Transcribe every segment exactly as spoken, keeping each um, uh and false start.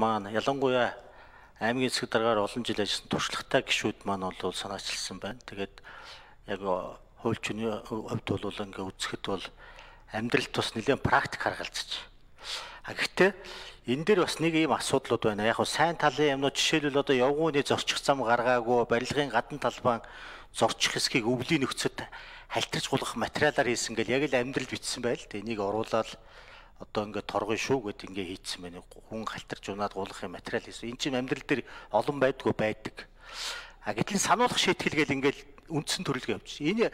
маань ялангуяа аймгийн засаг даргаар олон жил ажилласан туршлагатай гишүүд маань бол санаачилсан байна. Тэгээд яг хуульчны хувьд бол ингээ үзэхэд бол амьдралд бас нэлээд практик харгалзаж. А гэхдээ энэ дээр бас нэг ийм асуудлууд байна. Яг нь сайн талын юмнууд жишээлбэл одоо явгууны зорчих зам гаргаагүй, барилгын гадна талбайн зорчих хэсгийг өвлийн нөхцөд халтарч гулгах материалаар хийсэн гэл яг л амьдрал бичсэн байл. Энийг оруулаад одоо ингээд торгоё шүү гэд ингээ хийцсэн байна. Хүн халтарч унаад гулгахын материал хийсэн. Энд чинь амьдрал дээр олон байдгүй байдаг. А гэтэл сануулгах шийтгэл гэл ингээл үндсэн төрөлгөө явж. Энэ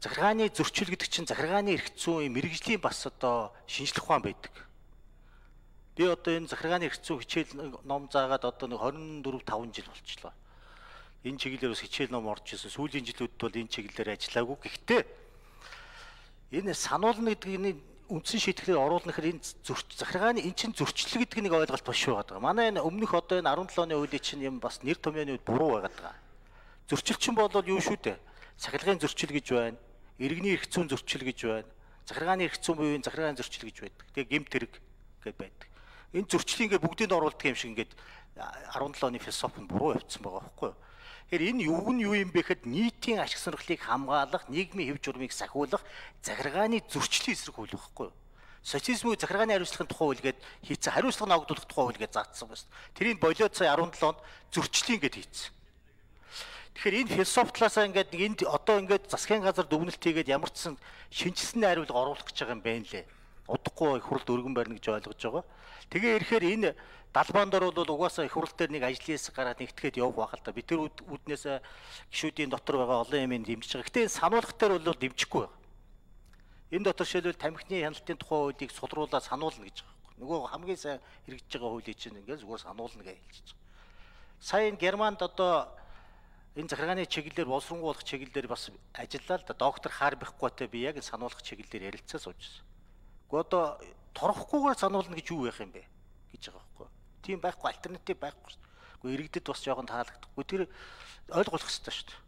захиргааны зөрчил гэдэг чинь захиргааны эрх зүйн мэрэгжлийн бас одоо шинжлэх ухаан байдаг. Би одоо энэ захиргааны эрх зүйн хичээл ном заагаад одоо нэг хорин дөрөв таван жил болчихлоо. Энэ чиглэлээр бас хичээл ном орж ирсэн. Сүүлийн жилүүдэд бол энэ чиглэлээр ажиллаагүй. Гэхдээ энэ сануулна гэдэг нь үндсэн шийтгэлээр оруулна гэхээр энэ захиргааны эн чинь зөрчил гэдэг нэг ойлголт бас шүү байгаа. Манай энэ өмнөх одоо энэ арван долооны үеийн чинь юм бас нэр томьёоны үед буруу байгаа. Зөрчил чинь бол юу шүү дээ? Цахилгаан зөрчил гэж байна. Иргэний эрх зүйн зөрчил гэж байна. Захиргааны эрх зүйн буюу захиргааны зөрчил гэж байдаг. Тэгээ гэмт хэрэг гэж байдаг. Энэ зөрчлийг ингээ бүгдийг нь оруулдаг юм шиг ингээд арван долооны философи нь буруу явцсан байгаа байхгүй юу? Тэгэхээр энэ юу нь юу юм бэ гэхэд нийтийн ашиг сонирхлыг хамгаалах, нийгмийн хэв журмыг сахиулах, захиргааны зөрчлийн эсрэг хууль байхгүй юу? Социализмын захиргааны хариуцлагын тухай хууль гээд хийцэн хариуцлага ногдуулах тухай хууль гээд заагдсан байна. Тэрийг болиод сая арван долоонд зөрчлийн гээд хийцэн. Тэгэхээр энэ философи талаасаа ингээд энд одоо ингээд засгийн газар дүгнэлт хийгээд ямар ч сан шинжилсэн найруулга оруулах гэж байгаа юм байна лээ. Удахгүй их хурлд өргөн барина гэж ойлгож байгаа. Тэгээ ирэхээр энэ далбаан дор бол угаасаа их хурл дээр нэг ажлын хэсэг гараад нэгтгэхэд явах байх л да. Бид тэр үүднээс гишүүдийн дотор байгаа олон юм дэмжиж байгаа. Гэтэ энэ сануулгах дээр бол дэмжихгүй байна. Энэ дотор шилбэл тамхины хяналтын тухай хуулийг сулруулаад сануулна гэж байгаа юм. Нөгөө хамгийн сайн хэрэгжиж байгаа хуулийг чинь ингээд зүгээр сануулна гэж хэлж байгаа. Сая энэ Германд одоо энэ захиргааны чиглэлээр боловсронгуулах чиглэлээр бас ажиллаа л да. Доктор Харбихгүйтэй би яг сануулгах чиглэлээр ярилцаа суужсэн. Гэхдээ одоо торохгүйгээр сануулна гэж юу байх юм бэ гэж байгаа байхгүй. Тийм байхгүй, альтернатив байхгүй шүү дээ. Гэхдээ иргэдэд бас жоохон таалагдахгүй. Тэр ойлгох хэрэгтэй шүү дээ.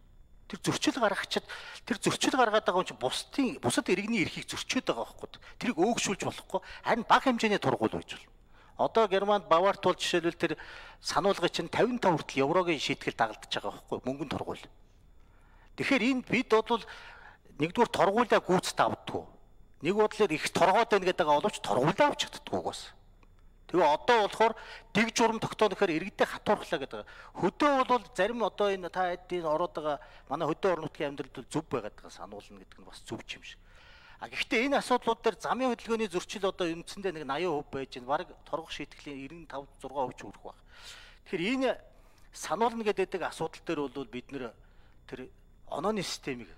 Тэр зөрчил гаргахчаад тэр зөрчил гаргаад байгаа юм чи бусдын бусад иргэний эрхийг зөрчөөд байгаа байхгүй. Тэрийг өөгшүүлж болохгүй. Харин бага хэмжээний тургуул байж болно. Одоо Германд Баварт бол жишээлбэл тэр сануулгыг чинь тавин тав хүртэл еврогийн шийтгэл дагалдаж байгаа байхгүй. Мөнгөнд тургуул. Тэгэхээр энд бид бол нэгдүгээр тургуулаа гүйцэд авдаггүй. Нэг бодлоор их торгоод байна гэдэг байгаа боловч тургуулаа авч чаддаггүй угаас. Тэгээ одоо болохоор дэг журам тогтоонохоор иргэдэд хатуурхлаа гэдэг. Хөдөө бол зарим одоо энэ та хэдийн ороод байгаа манай хөдөө орон нутгийн амьдралд бол зүв байгаад байгаа сануулна гэдэг нь бас зүв юм шиг. А гэхдээ энэ асуудлууд дээр замын хөдөлгөөний зөрчил одоо үндсэндээ нэг восемьдесят хувь байж байна. Бараг торгох шийтгэлийн девятнадцать шесть хувь ч хүрэх баг. Тэгэхээр энэ сануулна гэдэг асуудал дээр бол бид нэр тэр онооны системийг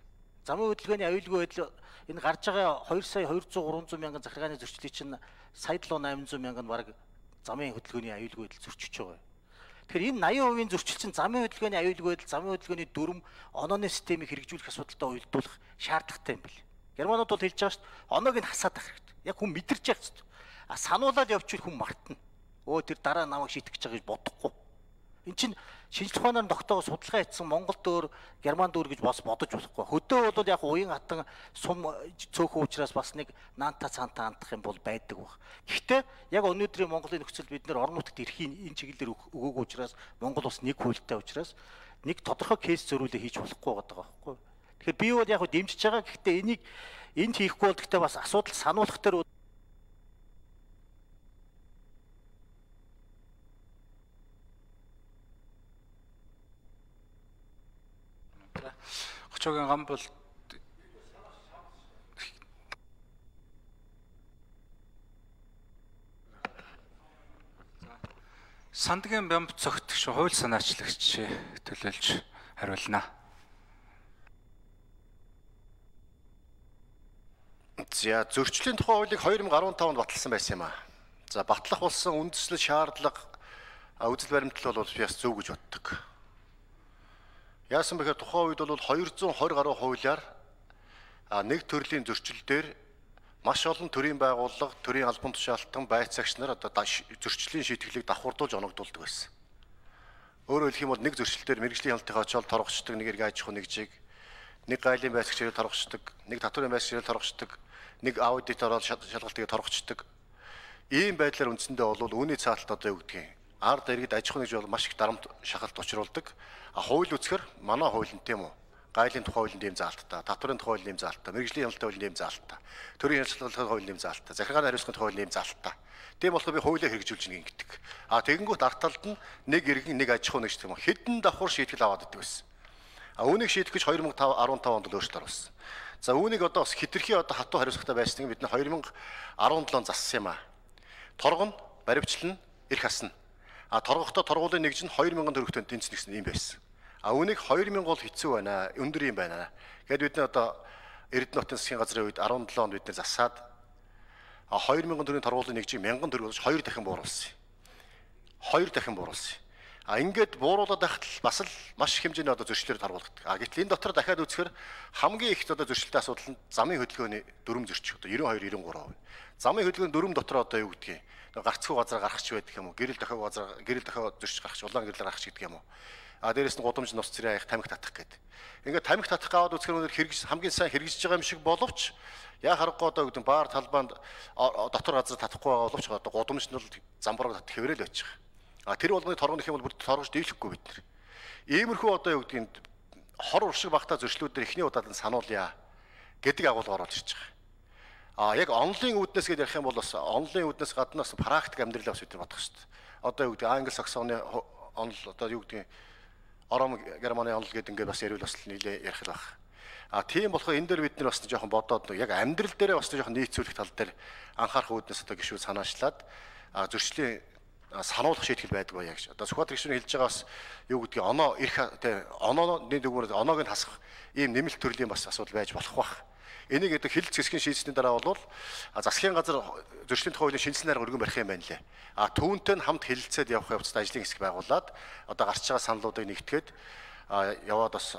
замын хөдөлгөөний аюулгүй байдал энэ гарч байгаа two сая two hundred three hundred мянган захиргааны зөрчлийг чинь сая seven hundred мянган бараг замын хөдөлгөөний аюулгүй байдал зөрчиж байгаа. Тэгэхээр энэ eighty хувийн зөрчил чинь замын хөдөлгөөний аюулгүй байдал, замын хөдөлгөөний дүрм, онооны системийг хэрэгжүүлэх асуудалтай уялдуулах шаардлагатай юм бэл. Германууд бол хэлж байгаа шүү дээ. Оноог нь хасаад авах хэрэгтэй. Яг хүн мэдэрч яах хэрэгтэй. А сануулаад явчихвал хүн мартна. Өө тэр дараа намайг шийтгэх гэж байгаа гэж бодохгүй. Эн чинь шинжлэх ухаанаар тогтоогоо судалгаа хийсэн Монголд өөр, Германд өөр гэж бас бодож болохгүй. Хөдөө бол яг уян хатан сум цөөхөн учраас бас нэг наанта цаантаа хандах юм бол байдаг баг. Гэхдээ яг өнөөдрийн Монголын нөхцөл бид нэр орон нутгад эрхийн энэ чиглэлээр өгөөгүй учраас Монгол бас нэг хуультай учраас нэг тодорхой кейс зөрүүлээ хийж болохгүй байгаа байхгүй. Тэгэхээр би бол яг дэмжиж байгаа. Гэхдээ энийг энд хийхгүй бол гэхдээ бас асуудал сануулгах дээр Очогийн гам бол Сандгийн бямб цогтгч хууль санаачлагч төлөөлж хариулна. За зөрчлийн тухай хуулийг two thousand fifteen онд баталсан байсан юм аа. За батлах болсон үндэслэл шаардлага үзэл баримтлал бол бас зөв гэж боддог. Яасан бэхээр тухайн үед бол two hundred twenty гаруй хуулиар нэг төрлийн зөрчил дээр маш олон төрийн байгууллага, төрийн албан тушаалтан, байцаагч нар одоо зөрчлийн шийтгэлийг давхурдуулж оногдуулдаг байсан. Өөрөөр хэлэх юм бол нэг зөрчил дээр мэргэжлийн хяналтынхаа очоод торгочдөг, нэг эргэж аж ахуй нэгжийг, нэг гайлын байцаагчийг торгочдөг, нэг татварын байцаагчийг торгочдөг, нэг аудит ороод шалгалтыг торгочдөг. Ийм байдлаар үндсэндээ бол үүний цааталт одоо юу гэдгийг ард иргэд аж ахуй нэгж бол маш их дарамт шахалт учруулдаг. А хууль үзэхэр манай хууль нь тийм үү? Гайлын тухай хуулийн дэм заалттай, татварын тухай хуулийн дэм заалттай, мэргэжлийн хяналттай хуулийн дэм заалттай, төрийн хяналттай хуулийн дэм заалттай, захиргааны хариуцлагын тухай хуулийн дэм заалттай. Тийм болохоор би хуулийг хэрэгжүүлж ийн гэдэг. А тэгэнгүүт ард талд нь нэг иргэн нэг аж ахуй нэгж тийм үү? Хэдэн давхар шийтгэл аваад идэг байсан. А үүнийг шийдэх гэж две тысячи десять онд л өөрчлөлт оруулсан. За үүнийг одоо бас хэтэрхий одоо хатуу хариуцлагатай байсныг бид две тысячи десять зассан юм а. Торгон, баривчлал нь эрх хасна. А торгохдоо торгуулийн нэгж нь две сая төгрөгтөнд тэнцэнэ гэсэн юм байсан. А үүнийг две сая бол хэцүү байна, өндөр юм байна. Гэвь бид нэ одоо Эрдэнэ хотын засгийн газрын үед десять онд бид нэ засаад а две сая төгрөгийн торгуулийн нэгжийг one thousand төгрөг болж хоёр дахин бууруулсан. Хоёр дахин бууруулсан. А ингээд бууруулаад байхад л бас л маш их хэмжээний одоо зөрчлөөр таргуулдаг. А гэтэл энэ дотор дахиад үзэхээр хамгийн их одоо зөрчилтэй асуудал нь замын хөдөлгөөний дүрм зөрчих одоо ninety-two ninety-three хувь. Замын хөдөлгөөний дүрм дотор одоо юу гэдгийг гарцгүй газар гаргахч байдаг юм уу? Гэрэл дахиад газар гэрэл дахиад зөрчих гаргахч, улаан гэрэл гаргахч гэдэг юм уу? А дээрэс нь гудамж нус цэрийн аях тамхи татах гэдэг. Ингээд тамхи татах гаваад үзэхээр өнөр хэрэгж хамгийн сайн хэрэгжиж байгаа юм шиг боловч яа харахгүй одоо гэдэг баар талбаанд дотор газар татахгүй байгаа боловч одоо гудамж нь бол замбараа татах хэврэл байж байгаа. А тэр болгоны торгоных юм бол бүр торгож дийлэхгүй бид нар. Иймэрхүү одоо юу гэдгийг хор уршиг багтаа зөрчлүүдээр эхний удаад нь сануулъя гэдэг агуулгаар орж ирж байгаа. А яг онлын үүднээс гэж ярих юм бол бас онлын үүднээс гадна бас практик амьдралаа бас бид нар бодох шүү дээ. Одоо юу гэдэг англи саксоны онл одоо юу гэдэг ором германы онл гэдэг ингээд бас ярил бас нэлээ ярих л баг. А тийм болохоор энэ дээр бид нар бас жоохон бодоод яг амьдрал дээрээ бас жоохон нийцүүлэх тал дээр анхаарах үүднээс одоо гişүүд санаачлаад а зөрчлийн сануулгах шийтгэл байдаг бая гэж. Одоо Сүхбаатар гишүүний хэлж байгаа бас юу гэдгийг оноо ирэх тий онооны дүгнэр оноог нь хасах ийм нэмэлт төрлийн бас асуудал байж болох бах. Энийг одоо хэлц хэсгийн шийдсэний дараа бол засгийн газар зөрчлийн тухай хуулийн шинжилсэн арга өргөн барих юм байна лээ. А түүнтэй нь хамт хэлэлцээд явах явцад ажлын хэсэг байгуулад одоо гарч байгаа саналуудыг нэгтгээд яваад бас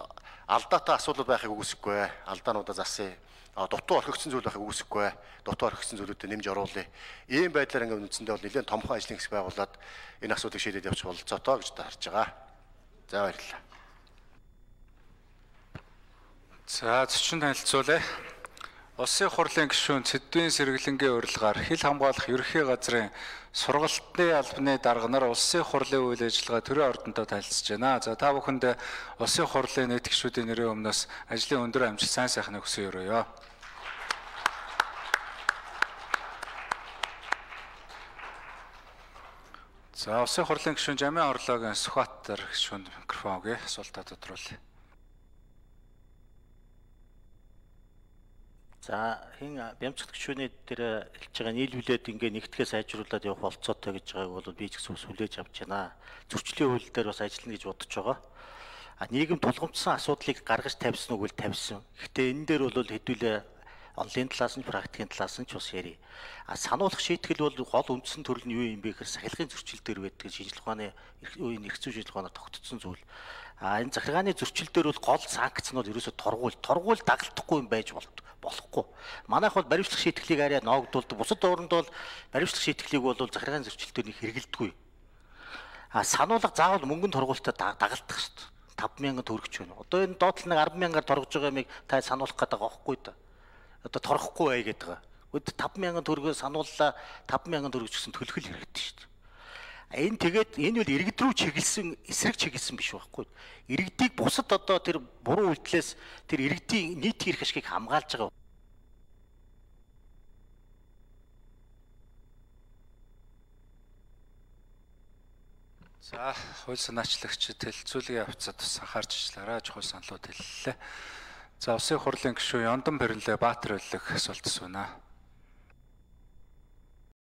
алдаатай асуудал байхыг үгүйсэхгүй. Алдаануудаа засъя. Дутуу орхигдсон зүйл байхыг үгүйсэхгүй. Дутуу орхигдсон зүйлүүдэд нэмж оруулъя. Ийм байдлаар ингээд үндсэндээ бол нэлээд томхон ажлын хэсэг байгуулад энэ асуудлыг шийдээд явчих бололцоотоо гэж харж байгаа. За баярлалаа. За зочин танилцуулъя. Улсын хурлын гишүүн Цэдвийн сэргэлэнгийн урилгаар хил хамгаалах ерөнхий газрын сургалтын албаны дарга нар улсын хурлын үйл ажиллагаа төрийн ордонтой танилцж байна. За та бүхэнд улсын хурлын нийт гишүүдийн нэрийн өмнөөс ажлын өндөр амжилт сайн сайхныг хүсэн өрөөё. За улсын хурлын гишүүн Жамин орлоогийн Сүхбаатар гишүүнд микрофон өгье. Асуултаа тодруулъя. За хин бямцгт гишүүний дээр хэлж байгаа нийлүүлээд ингээ нэгтгэхээ сайжруулад явах болцоотой гэж байгааг бол би ч гэсэн хүлээж авч байна. Зөрчлийн хууль дээр бас ажиллана гэж бодож байгаа. А нийгэм тулгамдсан асуудлыг гаргаж тавьсан уу гэвэл тавьсан. Гэхдээ энэ дээр бол хэдүүлээ онлайн талаас нь практикийн талаас нь ч бас ярий. А сануулгах шийтгэл бол гол үндсэн төрөл нь юу юм бэ гэхээр сахилгын зөрчил дээр байдаг шинжилгээ ухааны үеийн эрх зүйн шинжилгээ ухаанаар тогтцсон зүйл. А энэ захиргааны зөрчил дээр бол гол санкц нь бол ерөөсө торгуул торгуул дагалтахгүй юм байж болдог. Болохгүй. Манайх бол баримтлах шийтгэлийг арай ноогдуулдаг. Бусад орнд бол баримтлах шийтгэлийг бол захиргааны зөрчилтөөр нэг хэрэгэлдэггүй. А сануулга заавал мөнгөнд торгуултаа дагалдах шүү дээ. five thousand төгрөгч байна. Одоо энэ доотлол нэг ten thousand-аар торгож байгаа юмыг та сануулах гэдэг байгаа байхгүй да. Одоо торгохгүй бай гэдэг байгаа. Өд five thousand төгрөгөө санууллаа five thousand төгрөгч гэсэн төлөх хэрэгтэй шүү дээ. Энэ тэгээд энэ бол иргэд рүү чиглэсэн эсрэг чиглэсэн биш байхгүй. Иргэдийг бусад одоо тэр буруу үйлдэлээс тэр иргэдийн нийтийн эрх ашгийг хамгаалж байгаа. За хууль санаачлагчид хэлэлцүүлгийн явцад бас анхаарч ажиллаарай. Чухал саналууд хэллээ. За улсын хурлын гишүүн Яндон Бэрлээ Баатар Олиг асуулт асууна.